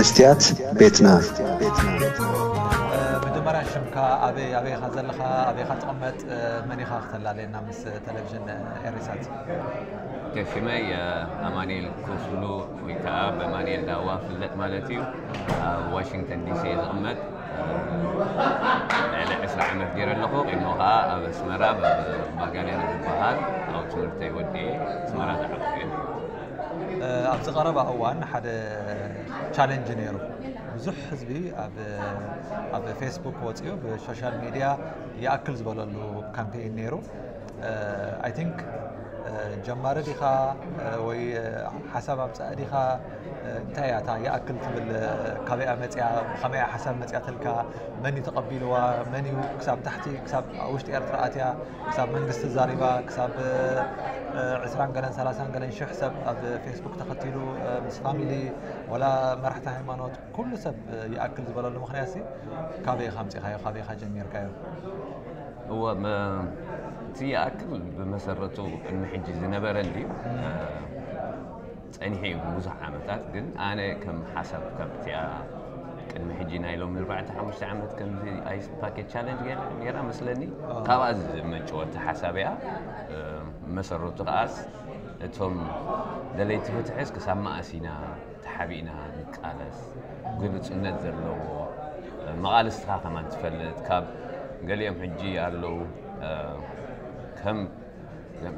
መስትያት ቤትና። መጀመርያ ሽምካ፣ ኣበይ ኣበይ ኢኻ ዘለኻ፣ ኣበይ ኢኻ ትቕመጥ፣ መን ኢኻ ክተላለየና ምስ ቴሌቪዥን ኤሪሳት? ሽመይ ኣማኑኤል ክፍሉ ወይ ከዓ በማኑኤል ዳዋ ፍለጥ ማለት እዩ። ኣብ ዋሽንግተን ዲሲ እየ ዝቕመጥ። ልዕሊ ዕስራ ዓመት ገይረ ኣለኹ። ቅድሞ ከዓ ኣብ ኣስመራ ኣብ ባጋልያን ዝበሃል ኣብ ትምህርተይ ወዲኤ ኣስመራ ዝዓበኹ እየ። ኣብዚ ቀረባ እዋን ሓደ ቻለንጅ ነይሩ። ብዙሕ ህዝቢ ኣብ ኣብ ፌስቡክ ወፂኡ ብሶሻል ሚድያ ይኣክል ዝበለሉ ካምፔይን ነይሩ። ኣይ ቲንክ ጀማሪ ዲኻ ወይ ሓሳብ ኣምፃእ ዲኻ? እንታይ እያ እታ ይኣክል ትብል? ካበይ እያ መፅያ? ብኸመይ እያ ሓሳብ መፅያትልካ? መን እዩ ተቐቢልዋ? መን እዩ ክሳብ ታሕቲ ክሳብ ውሽጢ ኤርትራ ኣትያ ክሳብ መንግስቲ ዛሪባ ክሳብ ዕስራን ገለን ሰላሳን ገለን ሽሕ ሰብ ኣብ ፌስቡክ ተኸቲሉ ምስ ፋሚሊ ወላ መራሕቲ ሃይማኖት ኩሉ ሰብ ይኣክል ዝበለሉ ምኽንያት ሲ ካበይ ኢኻ ኣምፂኻዮ? ካበይ ኢኻ ጀሚርካዮ? እወ እቲ ይኣክል ብመሰረቱ ቅድሚ ሕጂ ዝነበረ እንድዩ። ጸኒሑ እዩ ብዙሕ ዓመታት፣ ግን ኣነ ከም ሓሳብ ካብቲኣ ቅድሚ ሕጂ ናይ ሎሚ ኣርባዕተ ሓሙሽተ ዓመት ከምዚ ኣይስ ፓኬጅ ቻለንጅ ገይራ ነይራ መስለኒ። ካብኣ ዝመንጨወ እቲ ሓሳብ እያ። መሰረቱ ከኣስ እቶም ደለይቲ ፍትሕስ ክሳብ መኣስ ኢና ተሓቢእና ንቃለስ? ግልጹነት ዘለዎ መቓልስትኻ ከማን ትፈልጥ። ካብ ገሊኦም ሕጂ ኣለዉ ከም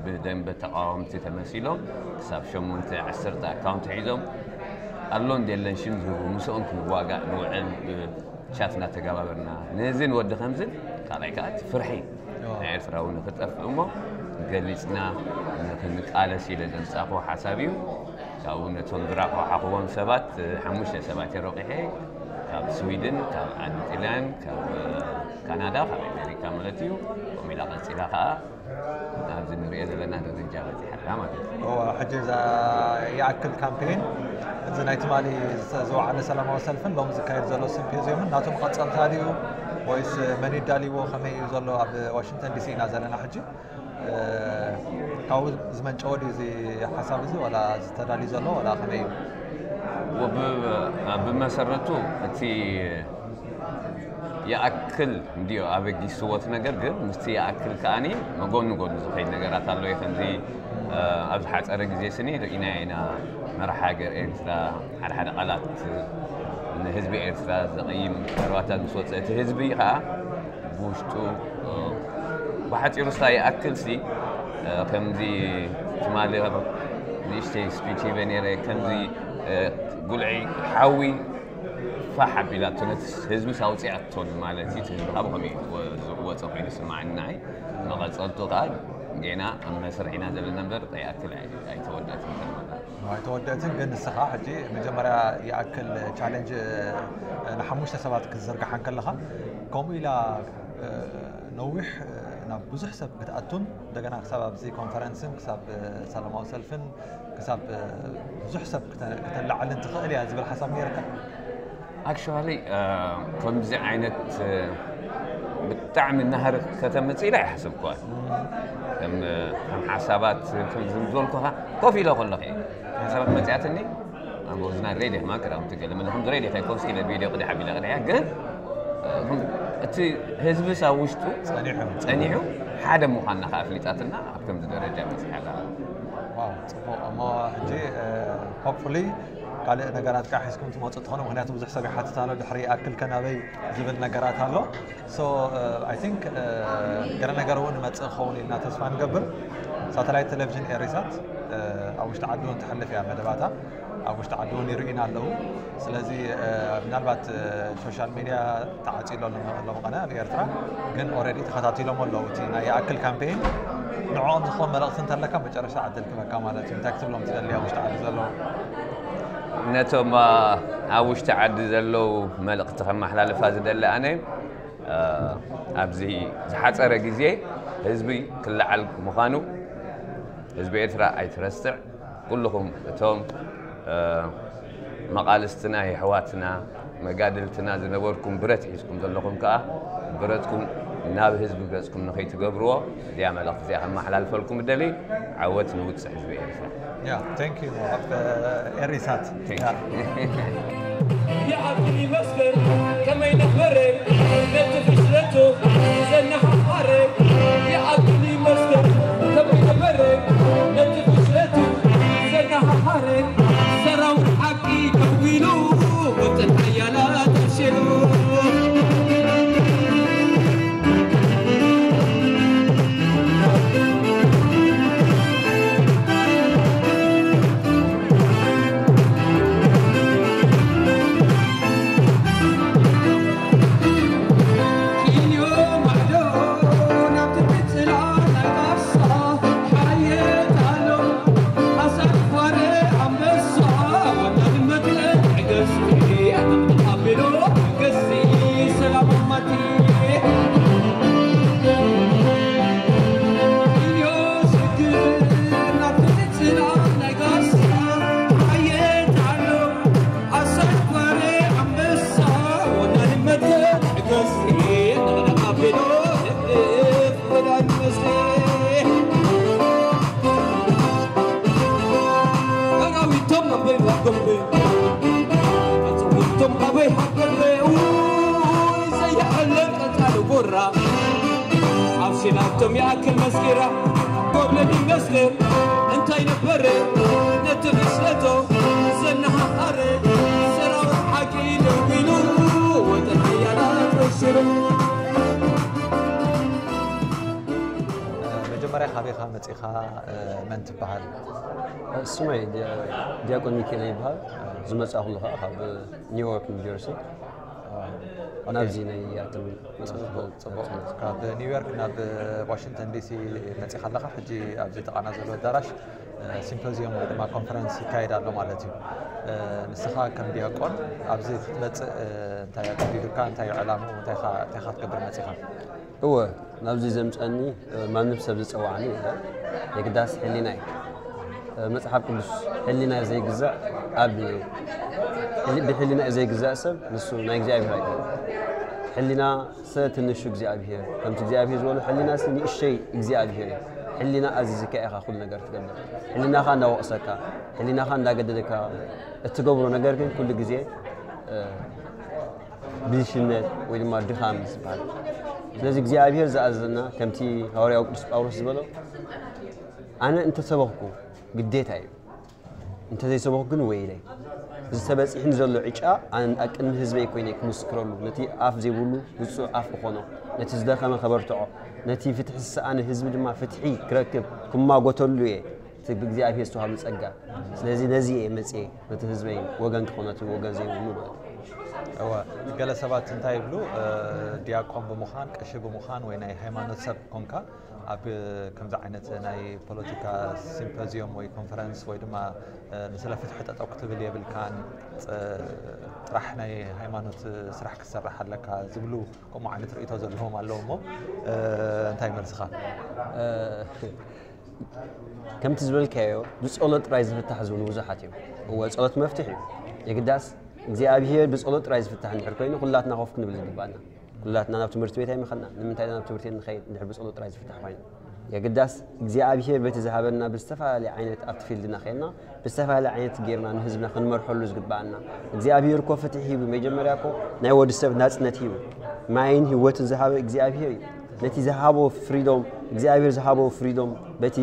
ብደንበ ተቃወምቲ ተመሲሎም ክሳብ ሸሞንተ ዓሰርተ ኣካውንት ሒዞም ኣሎ እንደ የለን ሽም ዝህቡ ምስኦም ክንዋጋእ ንውዕል ብቻት እናተገባበርና ነዚ ንወዲ ከምዝን ካልኣይ ከዓ እቲ ፍርሒ ናይ ኤርትራዊ ንክጠፍእ እሞ ገሊፅና ንክንቃለስ ኢለ ዘምፃእኩ ሓሳብ እዩ። ካብኡ ነቶም ዝራኸሓኽዎም ሰባት ሓሙሽተ ሰባት የሮቂሐ ካብ ስዊድን ካብ ዓዲ ጥልያን ካብ ካናዳ ካብ ኣሜሪካ ማለት እዩ። ከምኡ ኢላ ቀፂላ ከዓ ኣብዚ ንሪኦ ዘለና ደረጃ በፂሓላ ማለት እዩ። እወ፣ ሕጂ እዛ ይኣክል ካምፔን እዚ ናይ ትማሊ ዝተ- ዝወዓለ ሰላማዊ ሰልፍን ሎሚ ዝካየድ ዘሎ ሲምፖዚየምን ናቶም ቀፀልታ ድዩ ወይስ መን ይዳልዎ ከመይ እዩ ዘሎ? ኣብ ዋሽንግተን ዲሲ ኢና ዘለና ሕጂ። ካብኡ ዝመንጨወ ድዩ እዚ ሓሳብ እዚ ዋላ ዝተዳልዩ ዘሎ ዋላ ከመይ እዩ? ብመሰረቱ እቲ ይኣክል እንድዮ ኣበጊስዎ እቲ ነገር፣ ግን ምስቲ ይኣክል ከኣኒ መጎኒ ጎኒ ዝኸይድ ነገራት ኣሎ እዩ። ከምዚ ኣብ ዝሓፀረ ግዜ ስኒ ርኢና ኢና መራሕ ሃገር ኤርትራ ሓደ ሓደ ቃላት ንህዝቢ ኤርትራ ዘቐይም ዘረባታት ምስ ወፀ እቲ ህዝቢ ከዓ ብውሽጡ ብሓፂሩ ስታ ይኣክል ሲ ከምዚ ትማሊ ንእሽተይ ስፒች ሂበ ነይረ ከምዚ ጉልዒ ሓዊ ፋሕ ኣቢላቶ ነቲ ህዝቢ ኣውፂኣቶን ማለት እዩ። እቲ ህዝቢ ካብ ከመይ ወፀ ኮይኑ ስማዕኒ ንዓይ መቐፀልቱ ከዓ ጌና ኣብ መስርሕ ኢና ዘለና እምበር ይኣክል ኣይተወዳእትን። ኣይተወደእትን ግን ንስኻ ሕጂ መጀመርያ ይኣክል ቻለንጅ ንሓሙሽተ ሰባት ክትዝርግሓ እንከለኻ ከምኡ ኢላ ነዊሕ ናብ ብዙሕ ሰብ ክትኣቱን እንደገና ክሳብ ኣብዚ ኮንፈረንስን ክሳብ ሰላማዊ ሰልፍን ክሳብ ብዙሕ ሰብ ክተ- ክተላዕልን ትኽእል እያ ዝብል ሓሳብ ነይርካ? ኣክቹዋሊ ከምዚ ዓይነት ብጣዕሚ ናህሪ ከተምፅእ ኢለ ኣይሓሰብኩዋን። ከም ከም ሓሳባት ከም ዝበልኩኻ ኮፍ ኢለ ከለኹ እየ ሓሳባት መፅኣትኒ። ኣብ ወዝና ሬድዮ ድማ ክዳውንቲ ገለ መለ ከም ሬድዮ ከይኮንስ ኢለ ቪድዮ ቅድሕ ኣቢለ ቅድሕ እያ። ግን እቲ ህዝብስ ኣብ ውሽጡ ጸኒሑ። ጸኒሑ ሓደ ምዃንና ከኣ ኣፍሊጣትና ኣብ ከምዚ ደረጃ በጺሓ ኣላ። ዋው፣ ጽቡቕ። እሞ ሕጂ ሆፕፉሊ ካልእ ነገራት ከዓ ሒዝኩም ትመፁ ትኾኑ፣ ምክንያቱ ብዙሕ ሰብ ይሓትት ኣሎ ድሕሪ ይኣክል ከናበይ ዝብል ነገራት ኣሎ። So I think ገለ ነገር እውን ይመፅእ ክኸውን ኢልና ተስፋ ንገብር። ሳተላይት ቴሌቪዥን ኤሪሳት ኣብ ውሽጢ ዓዲ እውን ትሕልፍ እያ መደባታ። ኣብ ውሽጢ ዓዲ እውን ይርእዩና ኣለዉ። ስለዚ ምናልባት ሶሻል ሚድያ ተዓፅዩ ኣሎ ሎም- ሎም ቀነ ኣብ ኤርትራ፣ ግን ኦልሬዲ ተኸታቲሎም ኣለዉ እቲ ናይ ይኣክል ካምፔይን። ንዕኦም ዝኸውን መልእኽቲ እንተለካ መጨረሻ ዕድል ክበካ ማለት እዩ። እንታይ ክትብሎም ትደሊ ኣብ ውሽጢ ዓዲ ዘለዉ? ነቶም ኣብ ውሽጢ ዓዲ ዘለዉ መልእኽቲ ከመሓላልፋ ዝደሊ ኣነ ኣብዚ ዝሓፀረ ግዜ ህዝቢ ክለዓል ምዃኑ ህዝቢ ኤርትራ ኣይትረስዕ። ኩልኹም እቶም መቓልስትና የሕዋትና መጋድልትና ዝነበርኩም ብረት ሒዝኩም ዘለኹም ከዓ ብረትኩም ናብ ህዝቢ ገፅኩም ንኸይትገብርዎ እዚኣ መልእኽቲ እዚኣ ከመሓላልፈልኩም እደሊ። ዓወት ንውፅዕ ህዝቢ ኤርትራ። Yeah, thank you. ኤሪሳት። Thank you. ይኣክል ይመስገን ከመይ ነበረ ነቲ ፍሽለቱ ዘነሃሃረ። ይኣክል ይመስገን ከመይ ነበረ ነቲ ፍሽለቱ ዘነሃሃረ። ሰራዊት ሓቂ ደው ኢሉ ወጥን ሓያላት ተሽሉ። ኣብ ሽላቶም ይኣክል መስኪራ ጎብለል ይመስል እንታይ ነበረ ነቲ ፍሽለቶ ዘነሃሃረ። ሰራዊት ሓቂ ደው ኢሉ ወጥን ሓያላት ወሽሩ። መጀመርያ ካበይ ኢኻ መፂኻ? መን ትበሃል? ስመይ ዲያቆን ሚካኤል ይበሃል። ዝመፃእኩሉ ከዓ ካብ ኒውዮርክ ኒውጀርሲ ናብዚ ናይ ኣትም ፅቡቅ። ካብ ኒውዮርክ ናብ ዋሽንግተን ዲሲ መፂኻ ኣለኻ። ሕጂ ኣብዚ ጥቓና ዘሎ ኣዳራሽ ሲምፖዚየም ወይ ድማ ኮንፈረንስ ይካየድ ኣሎ ማለት እዩ። ንስኻ ከም ዲያቆን ኣብዚ ክትመፅእ እንታይ ኣገዲዱካ? እንታይ እዩ ዕላምኡ? እንታይ ኢኻ ክትገብር መፂኻ? እወ ናብዚ ዘምፀኒ ማንም ሰብ ዝፀዋዕኒ የለን። የግዳስ ሕሊና እዩ። መፅሓፍ ቅዱስ ሕሊና ዘይግዛእ ኣብ ብሕሊና ዘይግዛእ ሰብ ንሱ ናይ እግዚኣብሔር ኣይኮነ። ሕሊና ሰ ትንሹ እግዚኣብሔር ከምቲ እግዚኣብሔር ዝበሎ ሕሊና ሲ ንእሸይ እግዚኣብሔር እዩ። ሕሊና ኣዚዝካ ኢኻ ኩሉ ነገር ትገብር። ሕሊናኻ እንዳወቕሰካ ሕሊናኻ እንዳገደደካ እትገብሮ ነገር ግን ኩሉ ግዜ ብልሽነት ወይ ድማ ድኻም እዩ ዝበሃል። ስለዚ እግዚኣብሔር ዝኣዘዘና ከምቲ ሃዋርያው ቅዱስ ጳውሎስ ዝበሎ ኣነ እንተሰበኽኩ ግዴታ እዩ፣ እንተዘይሰበኽኩ ግን ወይለይ። እዚ ተበፂሕኒ ዘሎ ዕጫ ኣነ ኣብ ቅድሚ ህዝበይ ኮይነ ክምስክረሉ፣ ነቲ ኣፍ ዘይብሉ ብፁዕ ኣፍ ክኾኖ፣ ነቲ ዝደኸመ ከበርትዖ፣ ነቲ ፍትሒ ዝሰኣነ ህዝቢ ድማ ፍትሒ ክረክብ ክማጎተሉ እየ። እቲ ብእግዚኣብሔር ዝተዋህበ ጸጋ። ስለዚ ነዚ እየ መጽየ ነቲ ህዝበይ ወገን ክኾነ እቲ ወገን ዘይብሉ ማለት እዩ። እወ ገለ ሰባት እንታይ ይብሉ ዲያቆን ብምዃን ቀሺ ብምዃን ወይ ናይ ሃይማኖት ሰብ ኮንካ ኣብ ከምዚ ዓይነት ናይ ፖለቲካ ሲምፖዚዮም ወይ ኮንፈረንስ ወይ ድማ ንስለ ፍትሒ ጠጠው ክትብል የብልካን ጥራሕ ናይ ሃይማኖት ስራሕ ክትሰርሕ ኣለካ ዝብሉ ከምኡ ዓይነት ርእቶ ዘለዎም ኣለዉ እሞ እንታይ መልስኻ? ከምቲ ዝበልካዮ ብጸሎት ጥራይ ዝፍታሕ ዝብሉ ብዙሓት እዮም። እወ ጸሎት መፍትሕ እዩ። የግዳስ እግዚኣብሔር ብጸሎት ጥራይ ዝፍታሕ እንድሕር ኮይኑ ኩላትና ኮፍ ክንብል ዝግባና። ኩላትና ናብ ትምህርቲ ቤት ኣይምኸድና። ንምንታይ ናብ ትምህርቲ ቤት ንኸይድ እንድሕር ብጸሎት ጥራይ ዝፍታሕ ኮይኑ? የግዳስ እግዚኣብሔር በቲ ዝሃበና ብዝተፈላለየ ዓይነት ኣብቲ ፊልድና ኸይድና ብዝተፈላለየ ዓይነት ጌርና ንህዝብና ክንመርሐሉ ዝግባኣና እግዚኣብሔር እኮ ፍትሒ ሂቡ መጀመርያ እኮ ናይ ወዲ ሰብ ናፅነት ሂቡ ማይን ህይወትን ዝሃበ እግዚኣብሔር እዩ ነቲ ዝሃቦ ፍሪዶም እግዚኣብሔር ዝሃቦ ፍሪዶም በቲ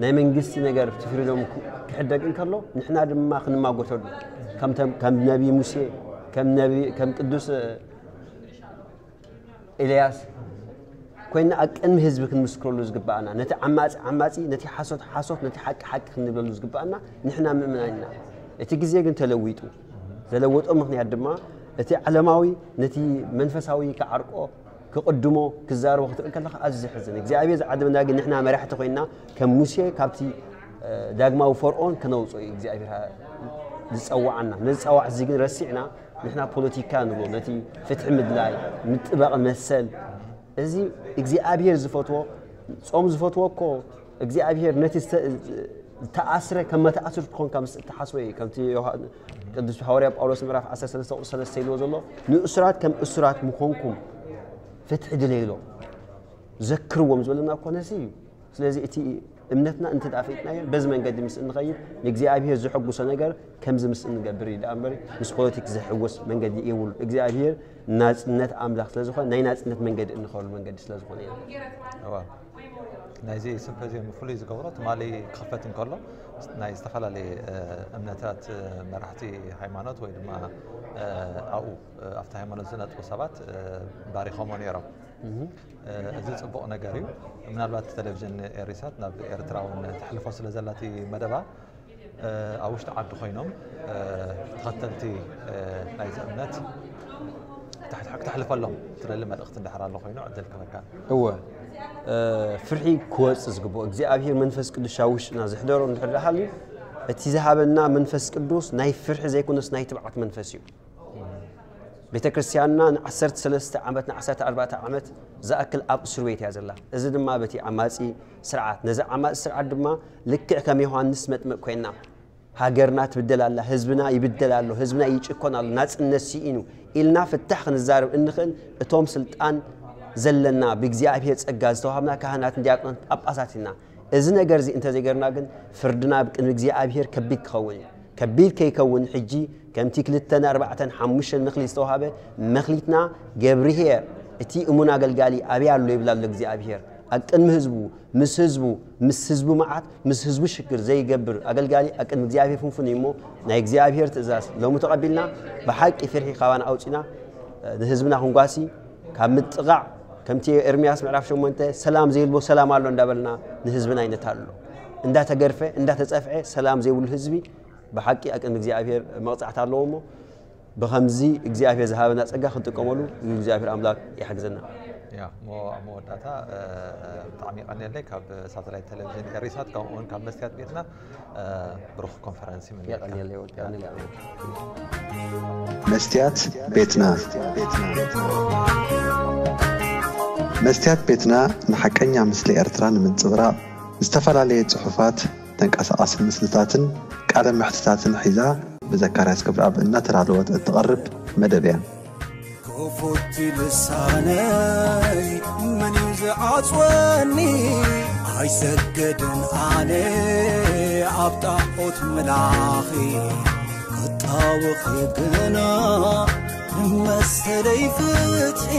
ናይ መንግስቲ ነገር እቲ ፍሪዶም ክሕደግ እንከሎ ንሕና ድማ ክንማጎተሉ ከም ነቢ ሙሴ ከም ቅዱስ ኤልያስ ኮይና ኣብ ቅድሚ ህዝቢ ክንምስክረሉ ዝግባኣና ነቲ ዓማፂ ዓማፂ ነቲ ሓሶት ሓሶት ነቲ ሓቂ ሓቂ ክንብለሉ ዝግባኣና ንሕና ምእመናን ኢና። እቲ ግዜ ግን ተለዊጡ። ዘለወጦ ምኽንያት ድማ እቲ ዓለማዊ ነቲ መንፈሳዊ ክዓርቆ ክቕድሞ ክዛረቦ ክትርኢ ከለኻ ኣዝዩ ዘሕዝን። እግዚኣብሔር ዝዓደመና ግን ንሕና መራሕቲ ኮይንና ከም ሙሴ ካብቲ ዳግማዊ ፈርኦን ከነውፅኦ እዩ እግዚኣብሔር ዝፀዋዓና። ነዚ ፀዋዕ እዚ ግን ረሲዕና ንሕና ፖለቲካ ንብሎ ነቲ ፍትሒ ምድላይ ምጥባቕ መሰል እዚ እግዚኣብሔር ዝፈትዎ ፆም ዝፈትዎ እኮ እግዚኣብሔር ነቲ ዝተኣስረ ከም መተኣስር ትኾንካ ምስ እተሓስበ እዩ ከምቲ ቅዱስ ሃዋርያ ጳውሎስ ምዕራፍ ዓሰርተ ሰለስተ ቁፅሪ ሰለስተ ኢልዎ ዘሎ ንእሱራት ከም እሱራት ምኾንኩም ፍትሒ ድለይሎ ዘክርዎም ዝበለና እኮ ነዚ እዩ ስለዚ እቲ እምነትና እንተ ደኣ ፈሊጥናዮ፣ በዚ መንገዲ ምስ እንኸይድ፣ ንእግዚኣብሔር ዘሐጉሶ ነገር ከምዚ ምስ እንገብር እዩ ደኣ እምበር፣ ምስ ፖለቲክ ዘሐጉስ መንገዲ የብሉ። እግዚኣብሔር ናጽነት ኣምላኽ ስለ ዝኾነ፣ ናይ ናጽነት መንገዲ እንኸሉ መንገዲ ስለ ዝኾነ ኢና። እዋ ናይዚ ሲምፖዚየም ፍሉይ ዝገብሮ ትማሊ ክኽፈት እንከሎ ናይ ዝተፈላለየ እምነታት መራሕቲ ሃይማኖት ወይ ድማ ኣብኡ ኣብቲ ሃይማኖት ዝነጥፉ ሰባት ባሪኾሞ ነይሮም። እዚ ጽቡቕ ነገር እዩ። ምናልባት ቴሌቪዥን ኤሪሳት ናብ ኤርትራ እውን ተሕልፎ ስለ ዘላቲ መደባ ኣብ ውሽጢ ዓዲ ኮይኖም ተኸተልቲ ናይዚ እምነት ክተሕልፈሎም ትደሊ መልእኽቲ እንድሕር ኣሎ ኮይኑ ዕድል ክበካ። እወ ፍርሒ ክወፅ ዝግብኦ እግዚኣብሔር መንፈስ ቅዱስ ኣብ ውሽጥና ዝሕደሮ እንድሕር ደኣ ሃልዩ እቲ ዝሃበና መንፈስ ቅዱስ ናይ ፍርሒ ዘይኮነስ ናይ ትብዓት መንፈስ እዩ። ቤተ ክርስቲያንና ን13 ዓመት ን14 ዓመት ዝኣክል ኣብ እስር ቤት እያ ዘላ። እዚ ድማ በቲ ዓማጺ ስርዓት ነዚ ዓማጺ ስርዓት ድማ ልክዕ ከም ዮሃንስ መጥምቅ ኮይና ሃገርና ትብደል ኣላ፣ ህዝብና ይብደል ኣሎ፣ ህዝብና ይጭኮን ኣሎ፣ ናጽነት ስኢኑ ኢልና ፍታሕ ክንዛረብ እንኽእል እቶም ስልጣን ዘለና ብእግዚኣብሔር ጸጋ ዝተዋሃብና ካህናትን ዲያቆናትን ጳጳሳት ኢና። እዚ ነገር እዚ እንተዘይገርና ግን ፍርድና ኣብ ቅድሚ እግዚኣብሔር ከቢድ ክኸውን እዩ። ከቢድ ከይከውን ሕጂ ከምቲ ክልተን ኣርባዕተን ሓሙሽተን መክሊት ዝተዋሃበ መክሊትና ገብርሄር እቲ እሙን ኣገልጋሊ ኣበይ ኣሎ ይብል ኣሎ እግዚኣብሔር ኣብ ቅድሚ ህዝቡ ምስ ህዝቡ ምስ ህዝቡ መዓት ምስ ህዝቡ ሽግር ዘይገብር ኣገልጋሊ ኣብ ቅድሚ እግዚኣብሔር ፍንፉን እዩ እሞ ናይ እግዚኣብሔር ትእዛዝ ሎሚ ተቐቢልና ብሓቂ ፍርሒ ካባና ኣውፂና ንህዝብና ክንጓሲ ካብ ምጥቓዕ ከምቲ ኤርምያስ ምዕራፍ ሸሞንተ ሰላም ዘይብልቦ ሰላም ኣሎ እንዳበልና ንህዝብና ይነታሎ እንዳተገርፈ እንዳተፀፍዐ ሰላም ዘይብሉ ህዝቢ ብሓቂ ኣብ ቅድሚ እግዚኣብሔር መቕፃዕቲ ኣለዎ እሞ ብኸምዚ እግዚኣብሔር ዝሃበና ፀጋ ክንጥቀመሉ እግዚኣብሔር ኣምላክ ይሓግዘና። ያ እሞ ኣብ መወዳእታ ብጣዕሚ ይቐንየለይ ካብ ሳተላይት ቴሌቪዥን ኤሪሳት ከምኡ እውን ካብ መስትያት ቤትና ብሩኽ ኮንፈረንስ ይምነየልካ። የቐንየለይ ወዲ የቐንየለይ ኣምላክ። መስትያት ቤትና መስትያት ቤትና ንሓቀኛ ምስሊ ኤርትራ ንምንጽብራቕ ዝተፈላለየ ጽሑፋት ተንቀሳቓሲ ምስልታትን ቃለ መሕትታትን ሒዛ ብዘካርያስ ክብረኣብ እናተዳለወት እትቐርብ መደብ እያ። ክፉት ልሳነይ መን እዩ ዝዓጽወኒ ኣይሰገድን ኣነ ኣብ ጣዖት ምላኺ ክጣወኺ ግና ንመሰለይ ፍትሒ